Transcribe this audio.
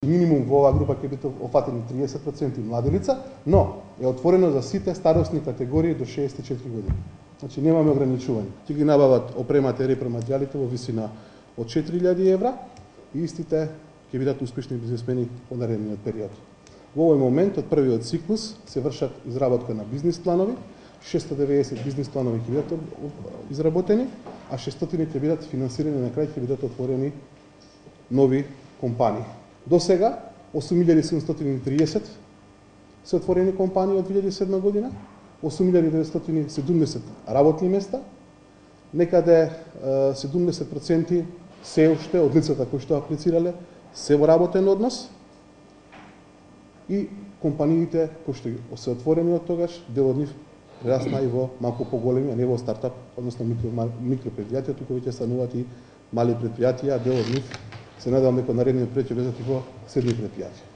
Минимум во оваа група ќе бидат офатени 30% млади лица, но е отворено за сите старосни категории до 64 години. Значи немаме ограничување. Ќе ги набават опремата и репроматеријалите во висина од 4000 евра и истите ќе бидат успешни бизнисмени во наредниот период. Во овој момент од првиот циклус се вршат изработка на бизнис планови, 690 бизнис планови ќе бидат изработени, а 600 ќе бидат финансирани, на крај ќе бидат отворени нови компании. До сега 8730 се отворени компании од 2007 година, 8970 работни места, некаде 70% се уште од лицата кои што аплицирале се во работен однос и компаниите кои што се отворени од тогаш, дел од нив прерасна и во малку поголеми, а не во стартап, односно микропредпријатија, туку веќе стануваат и мали предпријатија, дел од нив се надевам дека наредниот период ќе влезат и во средни предпријатија.